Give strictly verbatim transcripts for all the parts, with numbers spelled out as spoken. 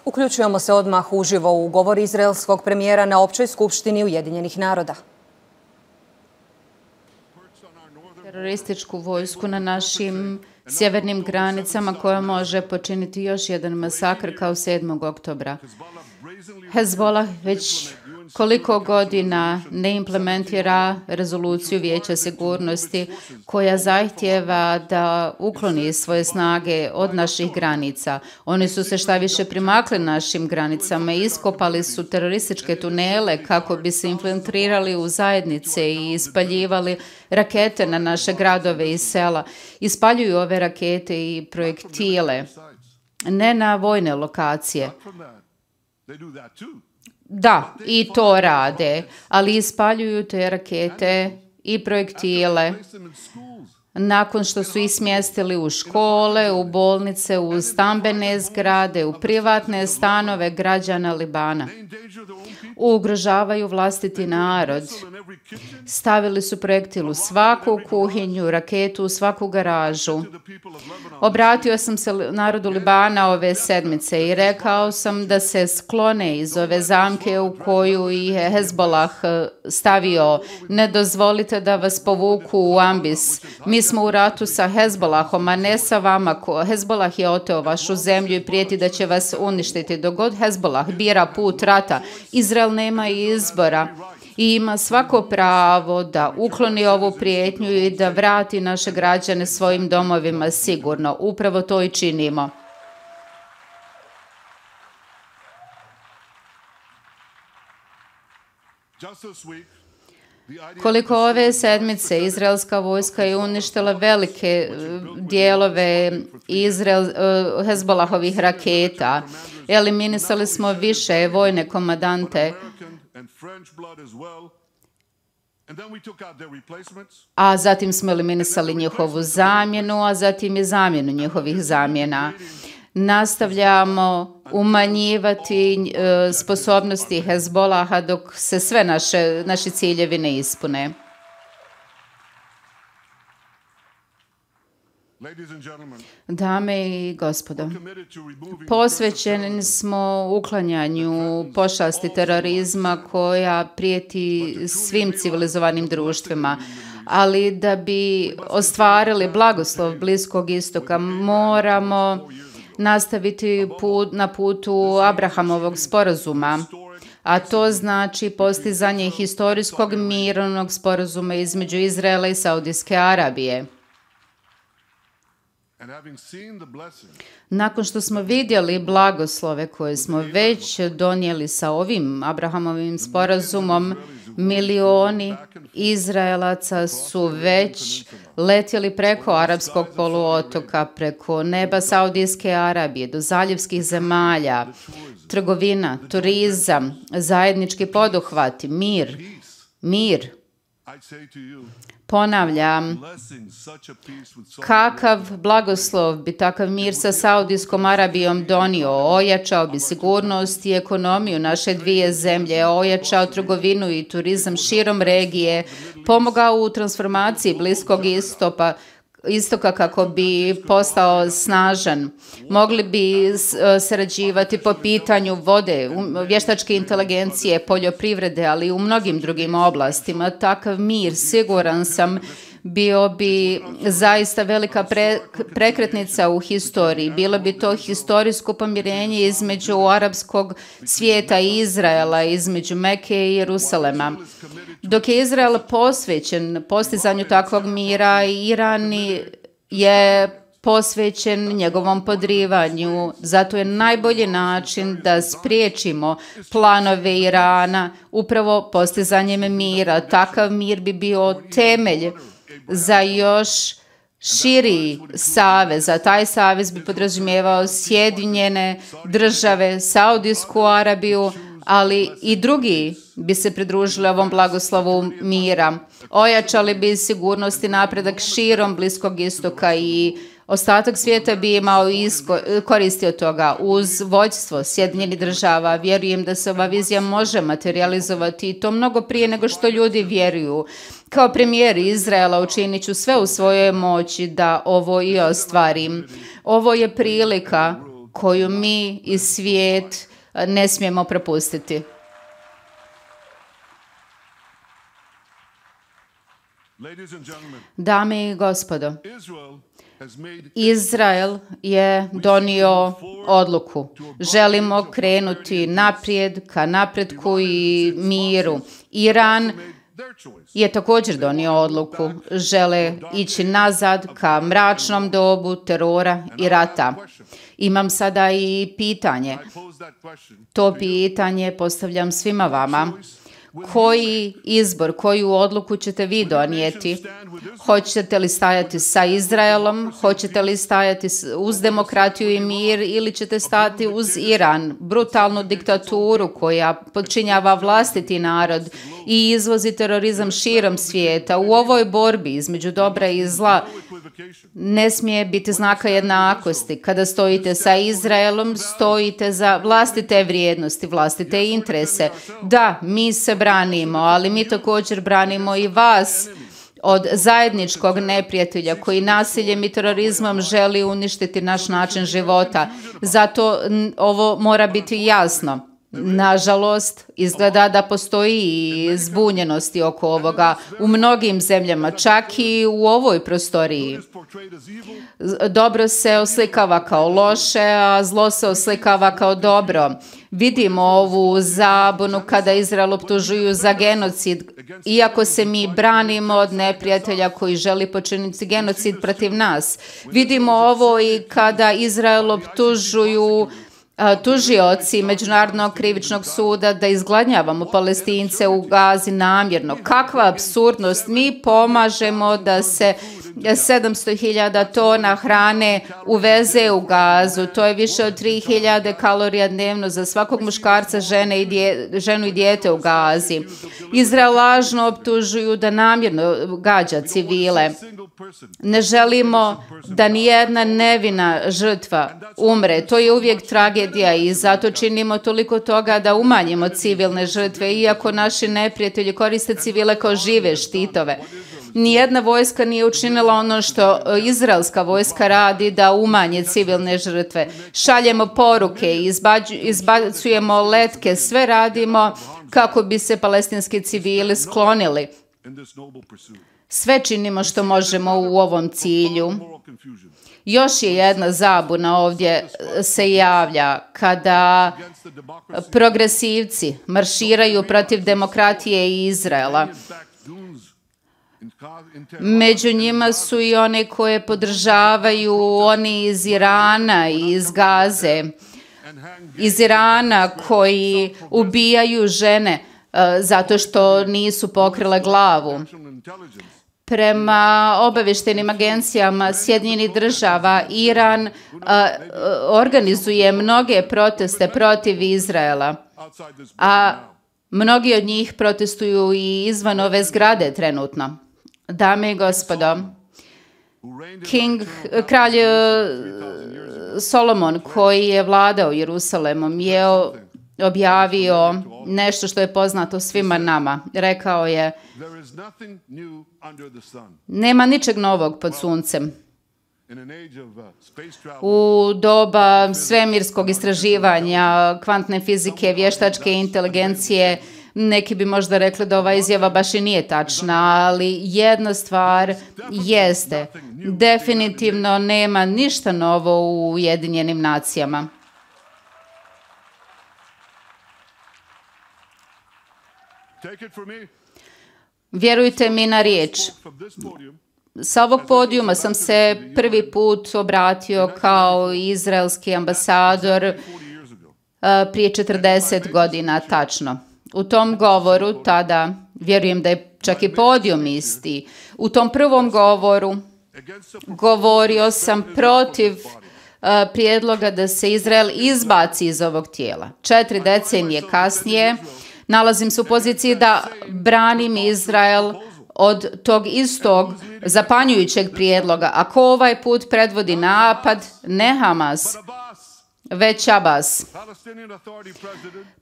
Uključujemo se odmah uživo u govor izraelskog premijera na Općoj skupštini Ujedinjenih naroda. Terorističku vojsku na našim sjevernim granicama koja može počiniti još jedan masakr kao sedmog oktobra. Hezbollah već koliko godina ne implementira rezoluciju Vijeća sigurnosti koja zahtijeva da ukloni svoje snage od naših granica. Oni su se šta više primakli našim granicama i iskopali su terorističke tunele kako bi se infiltrirali u zajednice i ispaljivali rakete na naše gradove i sela. Ispaljuju ove rakete i projektile, ne na vojne lokacije. Da, i to rade, ali ispaljuju te rakete i projektile nakon što su ih smjestili u škole, u bolnice, u stambene zgrade, u privatne stanove građana Libana. Ugrožavaju vlastiti narod. Stavili su projektil u svaku kuhinju, raketu u svaku garažu. Obratio sam se narodu Libana ove sedmice i rekao sam da se sklone iz ove zamke u koju je Hezbollah stavio. Ne dozvolite da vas povuku u ambis. Mi smo u ratu sa Hezbollahom, a ne sa vama. Hezbollah je oteo vašu zemlju i prijeti da će vas uništiti. Dok god Hezbollah bira put rata, Izrael nema izbora i ima svako pravo da ukloni ovu prijetnju i da vrati naše građane svojim domovima sigurno. Upravo to i činimo. Koliko ove sedmice izraelska vojska je uništila velike dijelove Izrael, Hezbollahovih raketa. Eliminisali smo više vojne komandante, a zatim smo eliminisali njihovu zamjenu, a zatim i zamjenu njihovih zamjena. Nastavljamo umanjivati e, sposobnosti Hezbollaha dok se sve naše, naši ciljevi ne ispune. Dame i gospodo, posvećeni smo uklanjanju pošasti terorizma koja prijeti svim civilizovanim društvima, ali da bi ostvarili blagoslov Bliskog istoka moramo nastaviti put, na putu Abrahamovog sporazuma, a to znači postizanje historijskog mirovnog sporazuma između Izraela i Saudijske Arabije. Nakon što smo vidjeli blagoslove koje smo već donijeli sa ovim Abrahamovim sporazumom, milioni Izraelaca su već letjeli preko arapskog poluotoka, preko neba Saudijske Arabije do zaljevskih zemalja. Trgovina, turizam, zajednički poduhvati, mir, mir. Ponavljam, kakav blagoslov bi takav mir sa Saudijskom Arabijom donio, ojačao bi sigurnost i ekonomiju naše dvije zemlje, ojačao trgovinu i turizam širom regije, pomogao u transformaciji Bliskog istoka, istoka kako bi postao snažan. Mogli bi sarađivati po pitanju vode, vještačke inteligencije, poljoprivrede, ali i u mnogim drugim oblastima. Takav mir, siguran sam, bio bi zaista velika pre, prekretnica u historiji. Bilo bi to historijsko pomirenje između arapskog svijeta i Izraela, između Mekke i Jerusalema. Dok je Izrael posvećen postizanju takvog mira, Iran je posvećen njegovom podrivanju. Zato je najbolji način da spriječimo planove Irana upravo postizanjem mira. Takav mir bi bio temelj za još širi savez, a taj savez bi podrazumijevao Sjedinjene države, Saudijsku Arabiju, ali i drugi bi se pridružili ovom blagoslovu mira. Ojačali bi sigurnost i napredak širom Bliskog istoka i ostatak svijeta bi imao isko, koristi od toga. Uz vođstvo Sjedinjenih država vjerujem da se ova vizija može materializovati i to mnogo prije nego što ljudi vjeruju. Kao premijer Izraela učinit ću sve u svojoj moći da ovo i ostvarim. Ovo je prilika koju mi i svijet ne smijemo propustiti. Dame i gospodo, Izrael je donio odluku. Želimo krenuti naprijed ka napretku i miru. Iran je također donio odluku. Žele ići nazad ka mračnom dobu terora i rata. Imam sada i pitanje. To pitanje postavljam svima vama. Koji izbor, koju odluku ćete vi donijeti? Hoćete li stajati sa Izraelom? Hoćete li stajati uz demokratiju i mir ili ćete stati uz Iran, brutalnu diktaturu koja podčinjava vlastiti narod i izvozi terorizam širom svijeta? U ovoj borbi između dobra i zla ne smije biti znaka jednakosti. Kada stojite sa Izraelom, stojite za vlastite vrijednosti, vlastite interese. Da, mi se branimo, ali mi također branimo i vas od zajedničkog neprijatelja koji nasiljem i terorizmom želi uništiti naš način života. Zato ovo mora biti jasno. Nažalost, izgleda da postoji i zbunjenosti oko ovoga u mnogim zemljama, čak i u ovoj prostoriji. Dobro se oslikava kao loše, a zlo se oslikava kao dobro. Vidimo ovu zabunu kada Izrael optužuju za genocid, iako se mi branimo od neprijatelja koji želi počiniti genocid protiv nas. Vidimo ovo i kada Izrael optužuju tužioci Međunarodnog krivičnog suda da izgladnjavamo Palestince u Gazi namjerno. Kakva apsurdnost! Mi pomažemo da se sedamsto hiljada tona hrane uveze u Gazu. To je više od tri hiljade kalorija dnevno za svakog muškarca, žene i dje, ženu i dijete u Gazi. Izrael lažno optužuju da namjerno gađa civile. Ne želimo da nijedna nevina žrtva umre. To je uvijek tragedija i zato činimo toliko toga da umanjimo civilne žrtve, iako naši neprijatelji koriste civile kao žive štitove. Nijedna vojska nije učinila ono što izraelska vojska radi da umanje civilne žrtve. Šaljemo poruke, izbacujemo letke, sve radimo kako bi se palestinski civili sklonili. Sve činimo što možemo u ovom cilju. Još je jedna zabuna ovdje se javlja kada progresivci marširaju protiv demokratije i Izraela. Među njima su i one koje podržavaju oni iz Irana i iz Gaze. Iz Irana koji ubijaju žene uh, zato što nisu pokrile glavu. Prema obavještajnim agencijama Sjedinjenih država, Iran uh, organizuje mnoge proteste protiv Izraela, a mnogi od njih protestuju i izvan ove zgrade trenutno. Dame i gospodo, King, kralj Solomon koji je vladao Jerusalemom je objavio nešto što je poznato svima nama. Rekao je: nema ničeg novog pod suncem. U doba svemirskog istraživanja, kvantne fizike, vještačke inteligencije, neki bi možda rekli da ova izjava baš i nije tačna, ali jedna stvar jeste, definitivno nema ništa novo u Ujedinjenim nacijama. Vjerujte mi na riječ. Sa ovog podijuma sam se prvi put obratio kao izraelski ambasador prije četrdeset godina tačno. U tom govoru tada, vjerujem da je čak i podijum isti, u tom prvom govoru govorio sam protiv uh, prijedloga da se Izrael izbaci iz ovog tijela. Četiri decenije kasnije nalazim se u poziciji da branim Izrael od tog istog zapanjujućeg prijedloga. Ako ovaj put predvodi napad, ne Hamas, već Abbas,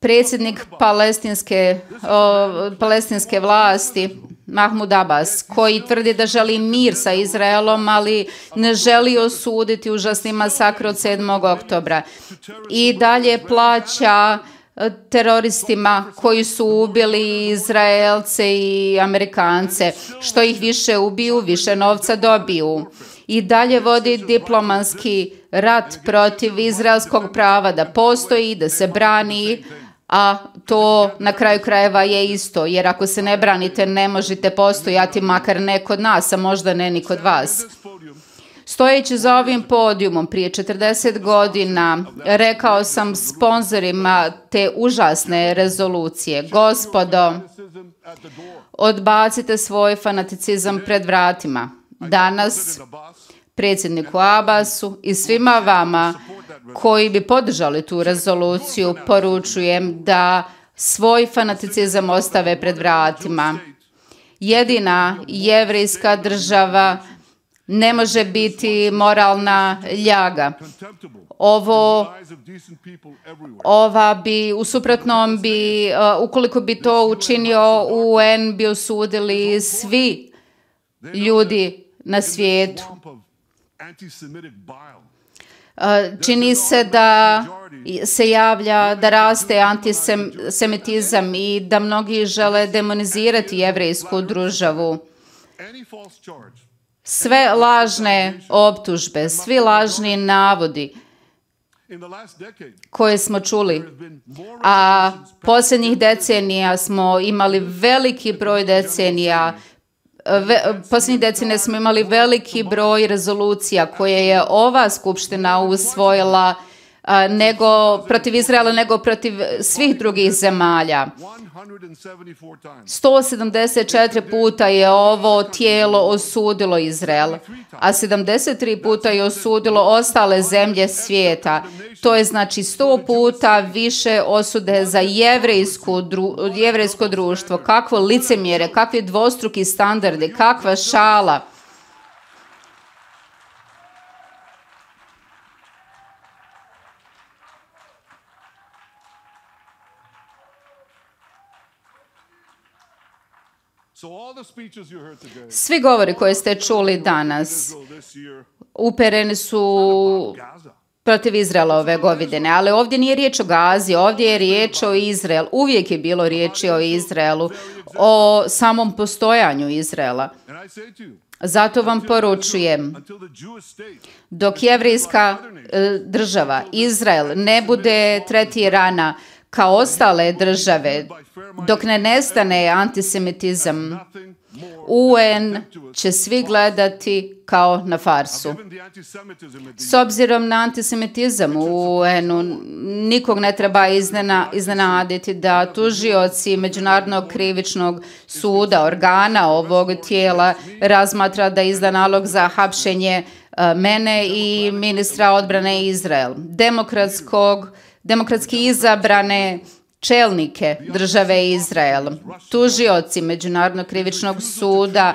predsjednik palestinske, o, palestinske vlasti, Mahmud Abbas, koji tvrdi da želi mir sa Izraelom, ali ne želi osuditi užasni masakr od sedmog oktobra. I dalje plaća teroristima koji su ubili Izraelce i Amerikance. Što ih više ubiju, više novca dobiju. I dalje vodi diplomatski rat protiv izraelskog prava da postoji, da se brani, a to na kraju krajeva je isto, jer ako se ne branite ne možete postojati, makar ne kod nas, a možda ne ni kod vas. Stojeći za ovim podijumom prije četrdeset godina rekao sam sponzorima te užasne rezolucije: gospodo, odbacite svoj fanaticizam pred vratima. Danas predsjedniku Abbasu i svima vama koji bi podržali tu rezoluciju poručujem da svoj fanaticizam ostave pred vratima. Jedina jevrejska država ne može biti moralna ljaga. Ovo, ova bi, u suprotnom bi, ukoliko bi to učinio U N, bi osudili svi ljudi na svijetu. Čini se da se javlja, da raste antisemitizam i da mnogi žele demonizirati jevrejsku državu. Sve lažne optužbe, svi lažni navodi koje smo čuli, a posljednjih decenija smo imali veliki broj decenija, Ve, posljednjih decenija smo imali veliki broj rezolucija koje je ova skupština usvojila a, nego protiv Izraela, nego protiv svih drugih zemalja. sto sedamdeset četiri puta je ovo tijelo osudilo Izrael, a sedamdeset tri puta je osudilo ostale zemlje svijeta. To je znači sto puta više osude za jevrejsko, dru, jevrejsko društvo. Kakvo licemjere, kakvi dvostruki standardi, kakva šala. Svi govori koje ste čuli danas upereni su protiv Izraela ove godine, ali ovdje nije riječ o Gazi, ovdje je riječ o Izraelu. Uvijek je bilo riječi o Izraelu, o samom postojanju Izraela. Zato vam poručujem, dok jevrejska država, Izrael, ne bude tretirana kao ostale države, dok ne nestane antisemitizam, U N će svi gledati kao na farsu. S obzirom na antisemitizam u U N-u, nikog ne treba iznena, iznenaditi da tužioci Međunarodnog krivičnog suda, organa ovog tijela, razmatra da izda nalog za hapšenje mene i ministra odbrane Izrael. Demokratskog, demokratski izabrane čelnike države Izrael. Tužioci Međunarodnog krivičnog suda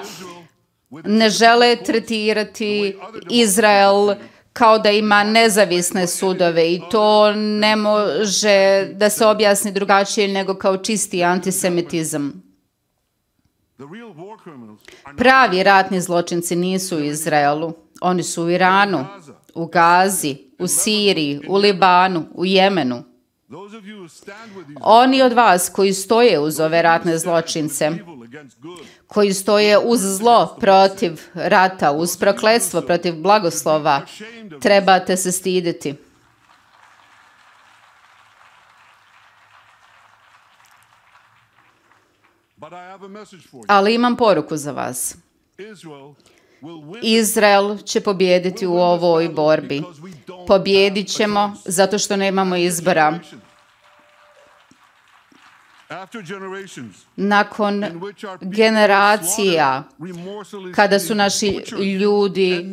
ne žele tretirati Izrael kao da ima nezavisne sudove i to ne može da se objasni drugačije nego kao čisti antisemitizam. Pravi ratni zločinci nisu u Izraelu. Oni su u Iranu, u Gazi, u Siriji, u Libanu, u Jemenu. Oni od vas koji stoje uz ove ratne zločince, koji stoje uz zlo protiv rata, uz prokletstvo protiv blagoslova, trebate se stiditi. Ali imam poruku za vas. Izrael će pobijediti u ovoj borbi. Pobjedit ćemo zato što nemamo izbora. Nakon generacija, kada su naši ljudi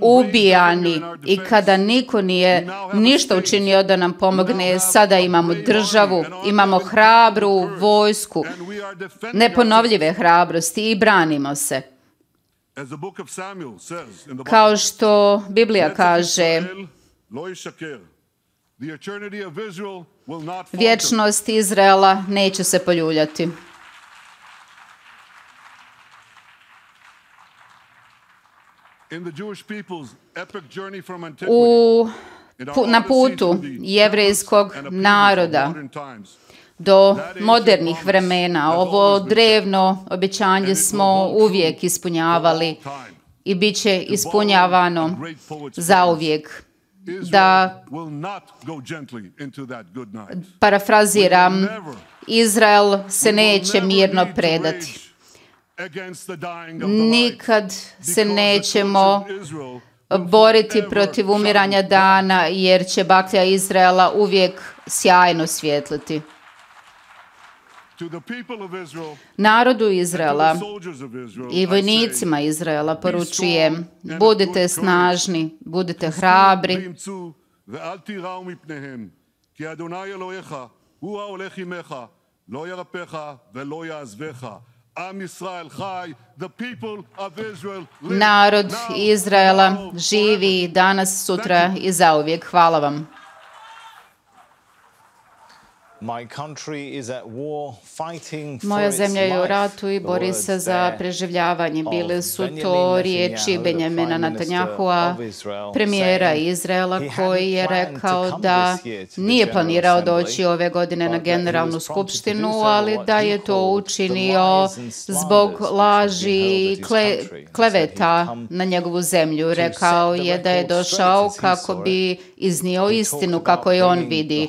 ubijani i kada niko nije ništa učinio da nam pomogne, sada imamo državu, imamo hrabru vojsku, neponovljive hrabrosti i branimo se. Kao što Biblija kaže, vječnost Izraela neće se poljuljati. U, na putu jevrejskog naroda do modernih vremena. Ovo drevno obećanje smo uvijek ispunjavali i bit će ispunjavano zauvijek. Da parafraziram, Izrael se neće mirno predati. Nikad se nećemo boriti protiv umiranja dana, jer će baklja Izraela uvijek sjajno svjetliti. Narodu Izraela i vojnicima Izraela poručujem: budite snažni, budite hrabri. Narod Izraela živi danas, sutra i zauvijek. Hvala vam. Moja zemlja je u ratu i bori se za preživljavanje. Bile su to riječi Benjamina Netanjahua, premijera Izraela, koji je rekao da nije planirao doći ove godine na generalnu skupštinu, ali da je to učinio zbog laži i kle, kleveta na njegovu zemlju. Rekao je da je došao kako bi iznio istinu kako je on vidi.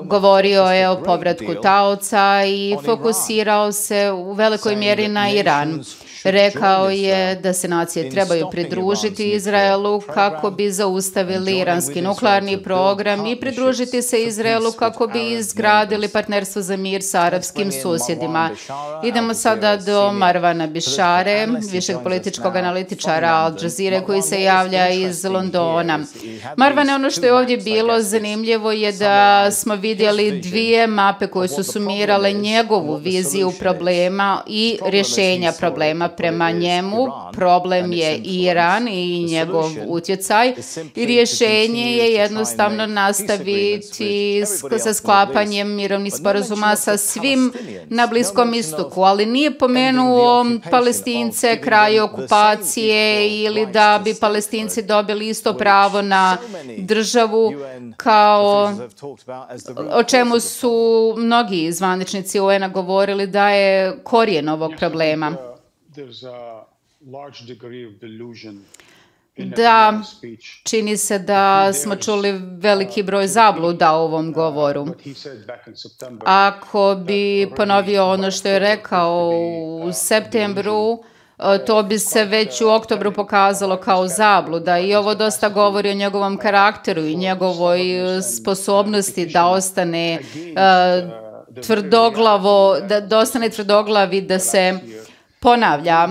Govorio je o povratku taoca i fokusirao se u velikoj mjeri na Iran. Rekao je da se nacije trebaju pridružiti Izraelu kako bi zaustavili iranski nuklearni program i pridružiti se Izraelu kako bi izgradili partnerstvo za mir sa arapskim susjedima. Idemo sada do Marwana Bishare, višeg političkog analitičara Al Jazeere, koji se javlja iz Londona. Marwan, ono što je ovdje bilo zanimljivo je da smo vidjeli dvije mape koje su sumirale njegovu viziju problema i rješenja problema. Prema njemu problem je Iran i njegov utjecaj i rješenje je jednostavno nastaviti sa sklapanjem mirovnih sporazuma sa svim na Bliskom istoku, ali nije pomenuo Palestince, kraj okupacije ili da bi Palestinci dobili isto pravo na državu kao o čemu su mnogi zvaničnici U N-a govorili da je korijen ovog problema. Da, čini se da smo čuli veliki broj zabluda u ovom govoru. Ako bi ponovio ono što je rekao u septembru, to bi se već u oktobru pokazalo kao zabluda i ovo dosta govori o njegovom karakteru i njegovoj sposobnosti da ostane uh, tvrdoglavo, da, da ostane tvrdoglavi, da se ponavlja.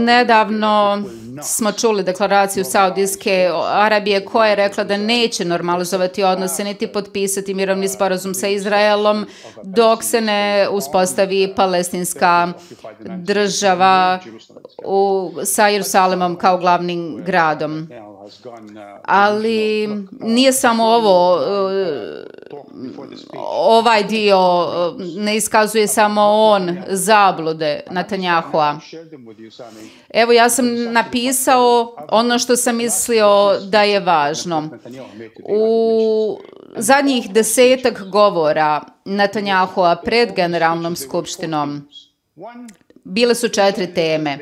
Nedavno smo čuli deklaraciju Saudijske Arabije koja je rekla da neće normalizovati odnose niti potpisati mirovni sporazum sa Izraelom dok se ne uspostavi palestinska država u, sa Jerusalemom kao glavnim gradom. Ali nije samo ovo, ovaj dio ne iskazuje samo on zablude Netanjahua. Evo, ja sam napisao ono što sam mislio da je važno. U zadnjih desetak govora Netanjahua pred generalnom skupštinom bile su četiri teme.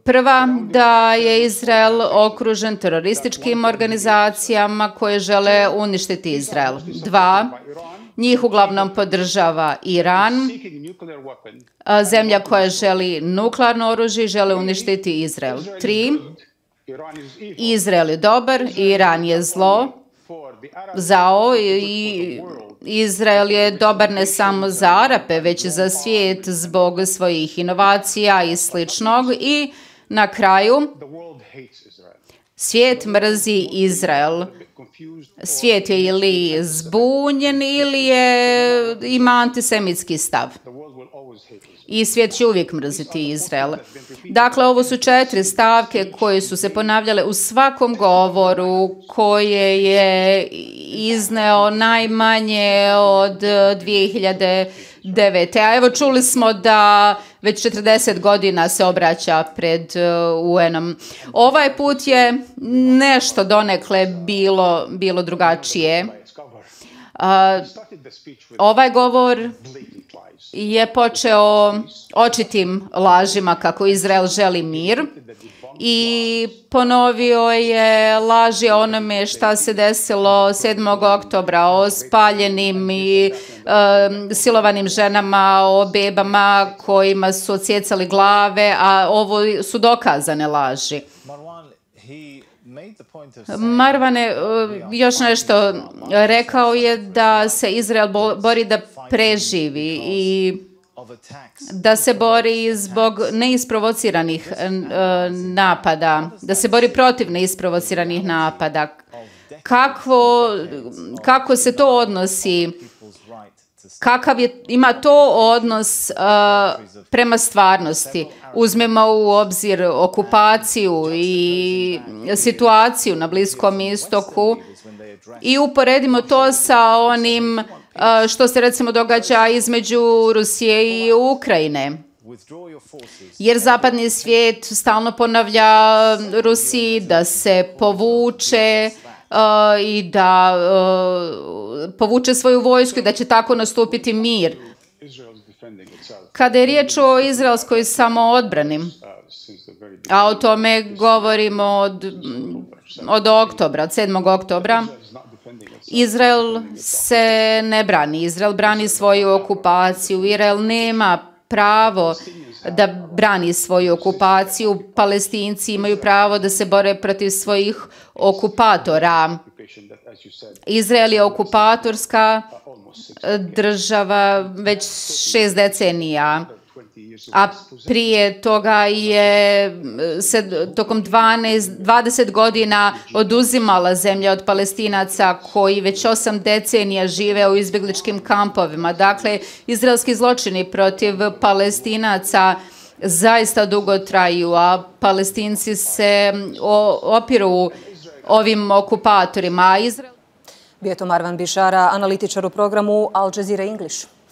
Prva, da je Izrael okružen terorističkim organizacijama koje žele uništiti Izrael. Dva, njih uglavnom podržava Iran, zemlja koja želi nuklearno oružje i žele uništiti Izrael. Tri, Izrael je dobar, Iran je zlo, zao i Izrael je dobar ne samo za Arape, već i za svijet zbog svojih inovacija i sličnog. I na kraju, svijet mrzi Izrael. Svijet je ili zbunjen ili je, ima antisemitski stav. i svijet će uvijek mrziti Izrael. Dakle, ovo su četiri stavke koje su se ponavljale u svakom govoru koje je izneo najmanje od dvije hiljade devete. A evo čuli smo da već četrdeset godina se obraća pred U N-om. Ovaj put je nešto donekle bilo, bilo drugačije. Uh, ovaj govor je počeo očitim lažima kako Izrael želi mir i ponovio je laži o onome šta se desilo sedmog oktobra, o spaljenim i um, silovanim ženama, o bebama kojima su odsjecali glave, a ovo su dokazane laži. Marvane, još nešto, rekao je da se Izrael bori da preživi i da se bori zbog neisprovociranih napada, da se bori protiv neisprovociranih napada. Kako, kako se to odnosi? Kakav je, ima to odnos uh, prema stvarnosti? Uzmemo u obzir okupaciju i situaciju na Bliskom istoku i uporedimo to sa onim uh, što se recimo događa između Rusije i Ukrajine. Jer zapadni svijet stalno ponavlja Rusiji da se povuče Uh, i da uh, povuče svoju vojsku i da će tako nastupiti mir. Kada je riječ o izraelskoj samoodbrani, a o tome govorimo od, od oktobra, od sedmog oktobra, Izrael se ne brani. Izrael brani svoju okupaciju. Izrael nema pravo da brani svoju okupaciju. Palestinci imaju pravo da se bore protiv svojih okupatora. Izrael je okupatorska država već šest decenija, a prije toga je se tokom dvanaest, dvadeset godina oduzimala zemlja od Palestinaca koji već osam decenija žive u izbjegličkim kampovima. Dakle, izraelski zločini protiv Palestinaca zaista dugo traju, a Palestinci se opiru ovim okupatorima. Bio je to Marwan Bishara, analitičar u programu Al Jazeera English.